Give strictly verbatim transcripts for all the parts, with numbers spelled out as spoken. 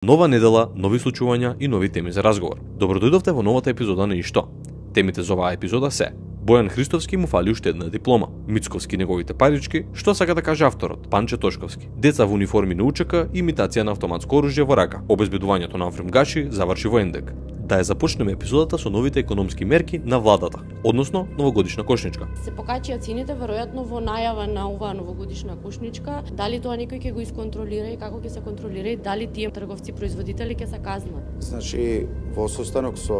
Нова недела, нови случувања и нови теми за разговор. Добро дојдовте во новата епизода на Ишто. Темите за оваа епизода се: Бојан Христовски му фали уште една диплома, Мицковски неговите парички, што сака да каже авторот, Панче Тошковски, деца во униформи на УЧК, имитација на автоматско оружје во рака, обезбедувањето на фрумгаши заврши во ендек. Да ја започнеме епизодата со новите економски мерки на владата, односно новогодишна кошничка. Се покачија цените веројатно во најава на оваа новогодишна кошничка. Дали тоа некој ќе го исконтролира и како ќе се контролира и дали тие трговци производители ќе се казнат? Значи, во состанок со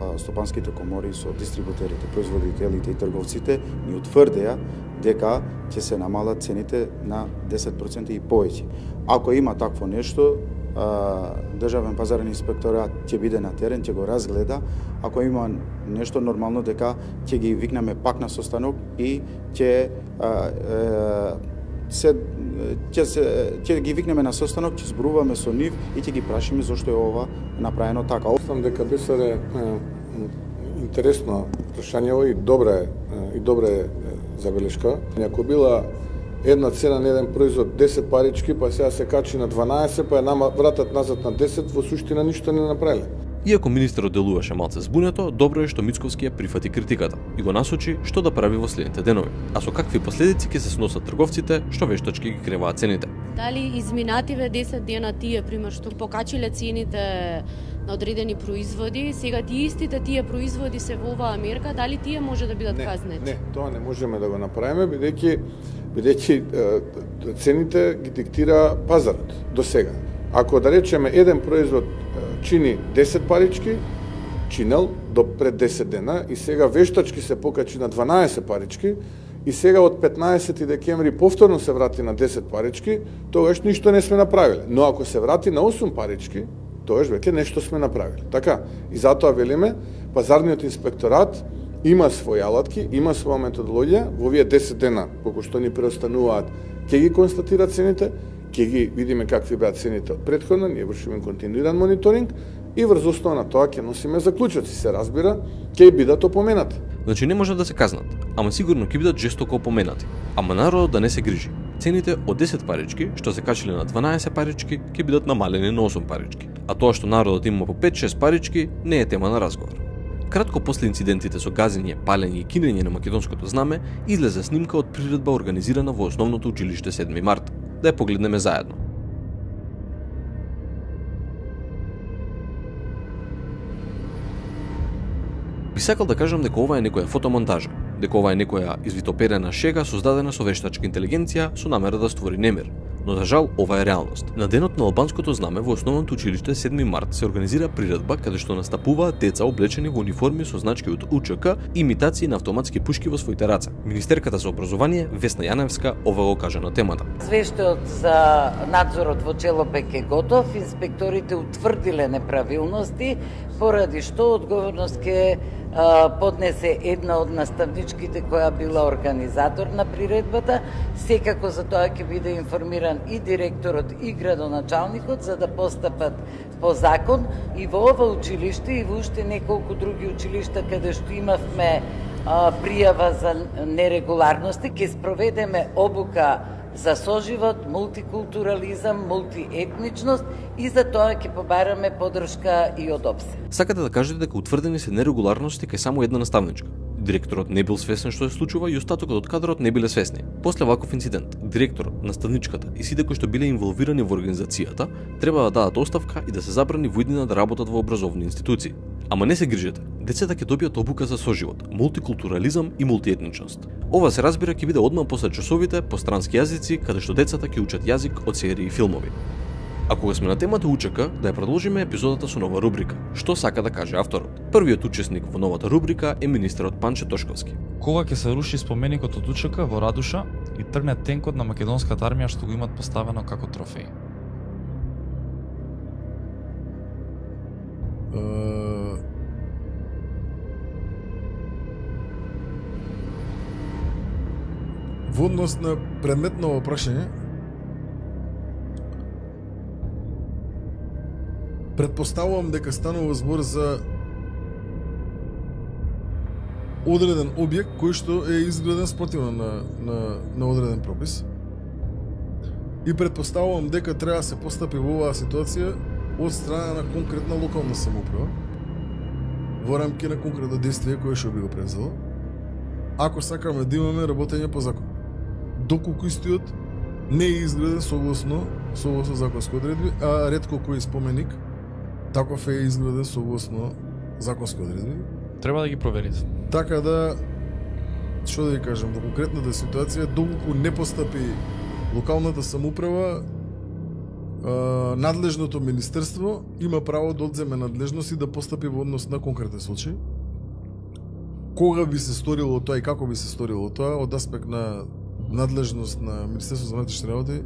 а, стопанските комори, со дистрибутерите, производителите и трговците, ни утврдеа дека ќе се намалат цените на десет проценти и повеќе. Ако има такво нешто, Државен пазарен инспекторат ќе биде на терен, ќе го разгледа. Ако има нешто нормално, дека ќе ги викнеме пак на состанок и ќе се ќе се ќе ги викнеме на состанок, ќе зборуваме со нив и ќе ги прашиме зошто е ова направено така. Мислам дека беше интересно прашање и добра и добра забелешка. Ако била една цена на еден производ десет парички, па сега се качи на дванаесет, па ја нама вратат назад на десет, во суштина ништо не направиле. Иако министерот делуваше малце збунето, добро е што Мицковски ја прифати критиката и го насочи што да прави во следните денови, а со какви последици ќе се сносат трговците што вештачки ги креваат цените. Дали изминативе десет дена тие, пример, што покачиле цените на одредени производи, сега тие истите тие производи се во оваа мерка, дали тие може да бидат не, казнети? Не, тоа не можеме да го направиме, бидејќи бидејќи цените ги диктира пазарот до сега. Ако да речеме еден производ чини десет парички, чинел до пред десет дена и сега вештачки се покачи на дванаесет парички и сега од петнаесети декември повторно се врати на десет парички, тогаш ништо не сме направиле. Но ако се врати на осум парички, тогаш веќе нешто сме направиле. Така, и затоа велиме, пазарниот инспекторат има своји алатки, има своја методологија, во овие десет дена, колку што ни преостануваат, ќе ги констатира цените, ќе ги видиме какви беа цените од претходно, ние вршиме континуиран мониторинг и врз основа на тоа ќе носиме заклучоци, се разбира, ќе бидат опоменати. Значи не може да се казнат, ама сигурно ќе бидат жестоко опоменати. Ама народот да не се грижи. Цените од десет парички, што се качиле на дванаесет парички, ќе бидат намалени на осум парички. А тоа што народот има по пет-шест парички не е тема на разговор. Кратко после инцидентите со газење, палење и кинење на македонското знаме, излезе снимка од приредба организирана во основното училиште седми март. Да ја погледнеме заедно. Би сакал да кажам дека ова е некоја фотомонтажа, дека ова е некоја извитоперена шега создадена со вештачка интелигенција со намера да створи немир. Но за жал ова е реалност. На денот на албанското знаме во основното училиште седми март се организира приредба каде што настапуваат деца облечени во униформи со значки од УЧК и имитации на автоматски пушки во своите раце. Министерката за образование Весна Јаневска ова го кажа на темата. Свештаот за надзорот во Челопек е готов, инспекторите утврдиле неправилности, поради што одговорност ќе поднесе една од наставничките која била организатор на приредбата. Секако за тоа ќе биде информиран и директорот и градоначалникот за да постапат по закон и во ова училиште и во уште неколку други училишта каде што имавме а, пријава за нерегуларности, ќе спроведеме обука за соживот, мултикултурализам, мултиетничност и за тоа ќе побараме поддршка и од ОПСЕ. Сакате да кажете дека утврдени се нерегуларности кај само една наставничка. Директорот не бил свесен што се случува и остатокот од кадрот не биле свесни. После ваков инцидент, директорот, наставничката и сите кои што биле инволвирани во организацијата треба да дадат оставка и да се забрани во иднина да работат во образовни институции. Ама не се грижете, децата ќе добијат обука за соживот, мултикултурализам и мултиетничност. Ова се разбира ќе биде одмам после часовите по странски јазици каде што децата ќе учат јазик од серии и филмови. А кога сме на темата УЧК, да ја продолжиме епизодата со нова рубрика. Што сака да каже авторот? Првиот учесник во новата рубрика е министерот Панче Тошковски. Кога ќе се руши споменикот од УЧК во Радуша и тргне тенкот на македонската армија што го имат поставено како трофеј? Во однос на предметно прашање, предпоставувам дека станува збор за одреден објект кој што е изграден спротивно на, на, на одреден пропис. И предпоставувам дека треба да се постапи во оваа ситуација од страна на конкретна локална самоуправа во рамки на конкретно действие кое што би го превзело, ако сакаме да имаме работење по закон. Доколку истиот не е изграден согласно согласно законски одредби, а ретко кој споменик таков е изграден согласно законски одредби. Треба да ги проверите. Така да, што да ви кажам, во конкретната ситуација, доколку не постапи локалната самоуправа, надлежното министерство има право да одземе надлежност и да постапи во однос на конкретен случај. Кога би се сторило тоа и како би се сторило тоа, од аспект на надлежност на Министерството за внатрешни работи,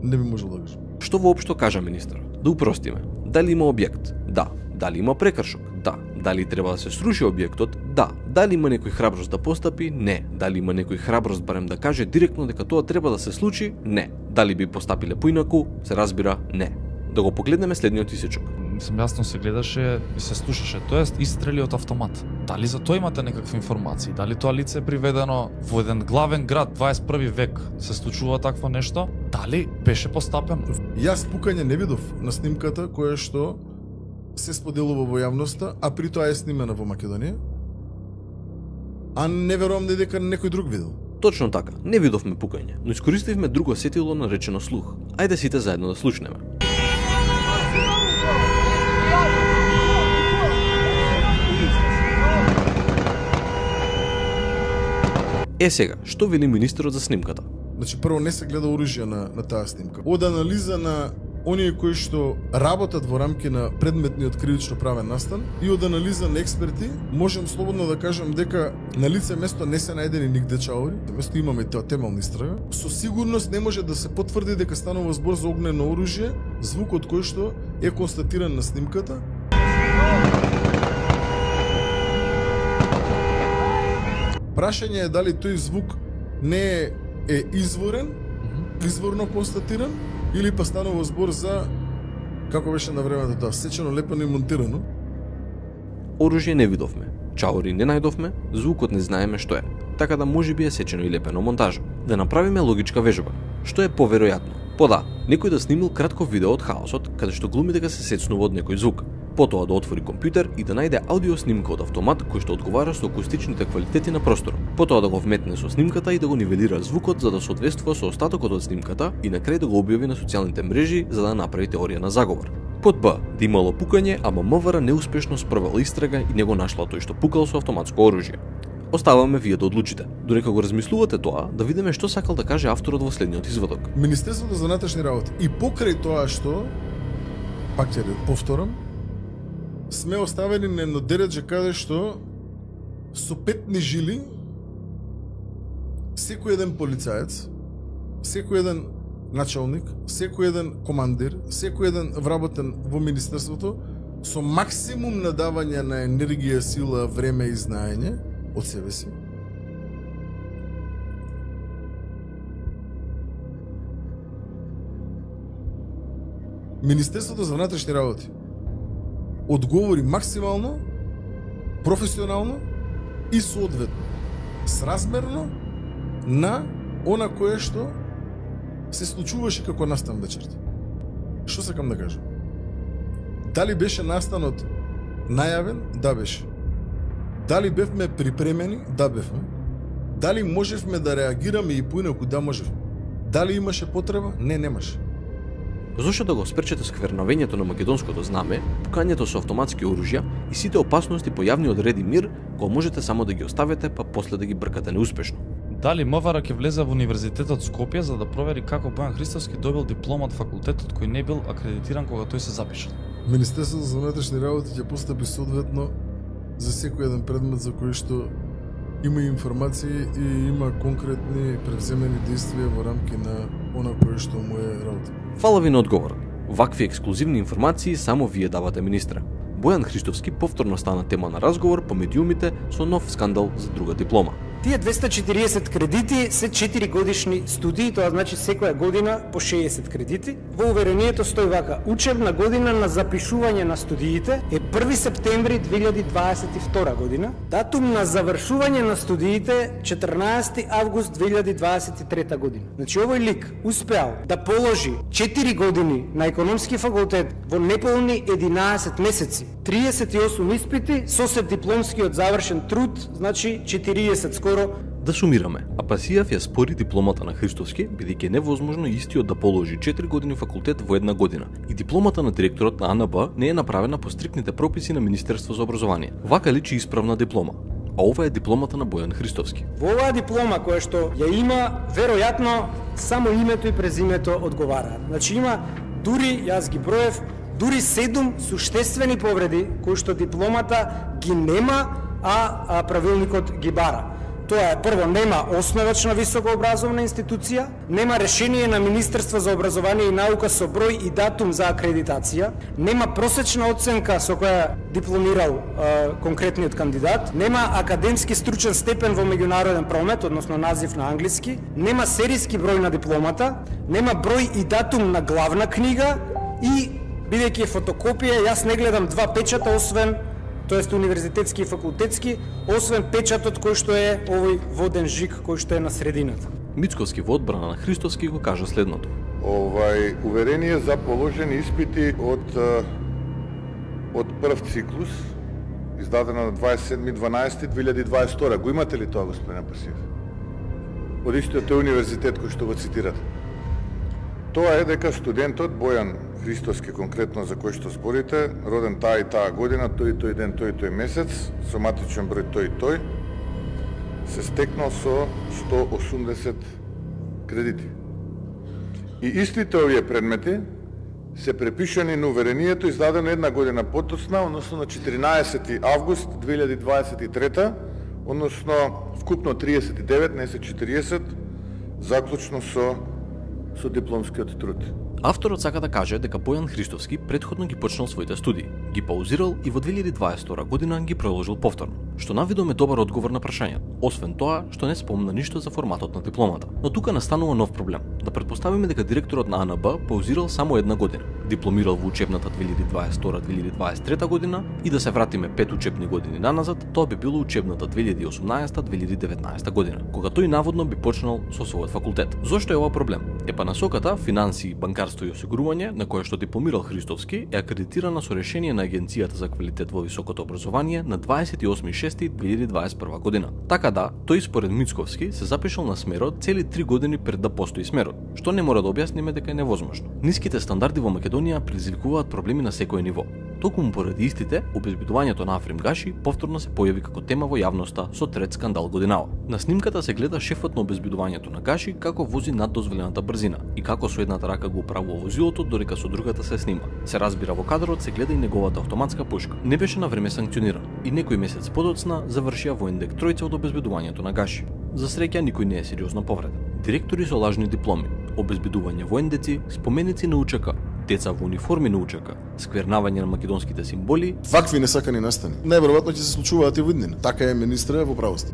не би можел да кажам. Што воопшто кажа министерот? Да упростиме. Дали има објект? Да. Дали има прекршок? Да. Дали треба да се сруши објектот? Да. Дали има некој храброст да постапи? Не. Дали има некој храброст барем да каже директно дека тоа треба да се случи? Не. Дали би постапиле поинаку? Се разбира, не. Да го погледнеме следниот исечок. Мислам, јасно се гледаше и се слушаше, тоест истрели од автомат. Дали за тоа имате некакви информации? Дали тоа лице е приведено во еден главен град дваесет и први век? Се случува такво нешто? Дали беше постапено? Јас пукање не видов на снимката која што се споделува во јавноста, а при тоа е снимена во Македонија. А не верувам дека некој друг видел. Точно така, не видовме пукање, но искористивме друго сетило наречено слух. Ајде сите заедно да слушнеме. Е сега, што вели министерот за снимката? Значи, прво не се гледа оружје на, на таа снимка. Од анализа на оние кои што работат во рамки на предметниот кривично правен настан и од анализа на експерти, можем слободно да кажем дека на лице место не се најдени нигде чаури, место имаме тоа темелна истрага. Со сигурност не може да се потврди дека станува збор за огнено оружје, звукот кој што е констатиран на снимката. Прашање е дали тој звук не е, е изворен, изворно констатиран, или па станува збор за, како беше на времето тоа, сечено, лепено и монтирано. Оружје не видовме, чаури не најдовме, звукот не знаеме што е, така да можеби е сечено и лепено монтажа. Да направиме логичка вежба. Што е поверојатно? По да, некој да снимил кратко видео од хаосот, каде што глуми дека се сецнува од некој звук. Потоа да отвори компјутер и да најде аудио снимка од автомат кој што одговара со акустичните квалитети на просторот. Потоа да го вметне со снимката и да го нивелира звукот за да соодветствува со остатокот од снимката и на крај да го објави на социјалните мрежи за да направи теорија на заговор. Под Б, да имало пукање, ама МВР неуспешно спровела истрага и не го нашла тој што пукал со автоматско оружје. Оставаме вие да одлучите. Додека го размислувате тоа, да видиме што сакал да каже авторот во следниот изводок. Министерството за внатрешни работи и покрај тоа што, пак ќе повторам, сме оставени на едно дередже каде што со петни жили секој еден полицаец, секој еден началник, секој еден командир, секој еден вработен во министерството со максимум надавање на енергија, сила, време и знаење од себе си Министерството за внатрешни работи одговори максимално, професионално и соодветно, сразмерно на она кое што се случуваше како настан вечерта. Што сакам да кажам? Дали беше настанот најавен? Да, беше. Дали бевме припремени? Да, бевме. Дали можевме да реагираме и поинаку? Да, можевме. Дали имаше потреба? Не, немаше. Зошто да го спречете сквернавењето на македонското знаме, пукањето со автоматски оружја и сите опасности по јавниот ред и мир, кога можете само да ги оставите, па после да ги бркате неуспешно? Дали МВР ќе влезе во Универзитетот Скопје за да провери како Бојан Христовски добил диплома од факултетот кој не бил акредитиран кога тој се запишал? Министерството за внатрешни работи ќе постапи соодветно за секој еден предмет за кој што има информации и има конкретни превземени действија во рамки на она кое што му е работа. Фала ви на одговор. Вакви ексклузивни информации само вие давате, министре. Бојан Христовски повторно стана тема на разговор по медиумите со нов скандал за друга диплома. Тие двесте и четириесет кредити се четири годишни студии, тоа значи секоја година по шеесет кредити. Во уверението стои вака: учебна година на запишување на студиите е први септември две илјади дваесет и втора година. Датум на завршување на студиите четрнаесети август две илјади дваесет и трета година. Значи овој лик успеал да положи четири години на економски факултет во неполни единаесет месеци, триесет и осум испити со се дипломскиот завршен труд, значи четириесет скоро. Да сумираме, Апасијав ја спори дипломата на Христовски, бидејќи е невозможно истиот да положи четири години факултет во една година. И дипломата на директорот на А Н Б не е направена по стрикните прописи на Министерство за образование. Вака личи исправна диплома. А ова е дипломата на Бојан Христовски. Во оваа диплома која што ја има, веројатно само името и презимето одговараат. Значи има дури, јас ги броев, дури седум суштествени повреди кои што дипломата ги нема, а, а правилникот ги бара. Тоа е: прво, нема основачна високообразовна институција, нема решение на Министерство за образование и наука со број и датум за акредитација, нема просечна оценка со која дипломирал е, конкретниот кандидат, нема академски стручен степен во меѓународен промет, односно назив на англиски, нема серијски број на дипломата, нема број и датум на главна книга и, бидејќи е фотокопија, јас не гледам два печата, освен тоест универзитетски и факултетски, освен печатот кој што е овој воден жик кој што е на средината. Мицковски во одбрана на Христовски го кажа следното: Овај уверение за положени испити од од прв циклус, издадено на дваесет и седми дванаесети две илјади дваесет и втора. Го имате ли тоа, господин Апасијев? Од истиот тој универзитет кој што го цитирате. Тоа е дека студентот Бојан Христовски, конкретно за кој што зборите, роден таа и таа година, тој и тој ден, тој и тој месец, со матичен број тој и тој, се стекнал со сто осумдесет кредити. И истите овие предмети се препишани на уверението издадено една година потоцна, односно на четиринаесети август две илјади дваесет и трета, односно вкупно триесет и девет, не се четириесет, заклучно со со дипломскиот труд. Авторот сака да каже дека Бојан Христовски претходно ги почнал своите студии, ги паузирал и во две илјади дваесет и втора година ги продолжил повторно, што навидом е добар одговор на прашањето, освен тоа што не спомна ништо за форматот на дипломата. Но тука настанува нов проблем. Да претпоставиме дека директорот на А Н Б паузирал само една година, дипломирал во учебната две илјади дваесет и втора две илјади дваесет и трета година и да се вратиме пет учебни години наназад, тоа би било учебната две илјади и осумнаесета две илјади и деветнаесета година, кога тој наводно би почнал со својот факултет. Зошто е ова проблем? Е па насоката финансии, банкарство и осигурување на кое што дипломирал Христовски е акредитирана со решение на Агенцијата за квалитет во високото образование на дваесет и осми јуни две илјади дваесет и прва година. Така да, тој според Мицковски се запишал на смерот цели три години пред да постои смерот, што не мора да објасниме дека е невозможно. Ниските стандарди во Македонија предизвикуваат проблеми на секој ниво. Токму поради истите, обезбедувањето на Африм Гаши повторно се појави како тема во јавноста со трет скандал годинава. На снимката се гледа шефот на обезбедувањето на Гаши како вози над дозволената брзина и како со едната рака го управува возилото додека со другата се снима. Се разбира, во кадрот се гледа и неговата автоматска пушка. Не беше на време санкциониран и некој месец подоцна завршија во индек тројца од обезбедувањето на Гаши. За среќа никој не е сериозно повреден. Директори со лажни дипломи, обезбедување воендеци, споменици на У Ч К, деца во униформи на У Ч К, сквернавање на македонските символи. Вакви несакани настани најверојатно ќе се случуваат и во иднина. Така е, министре, во правост.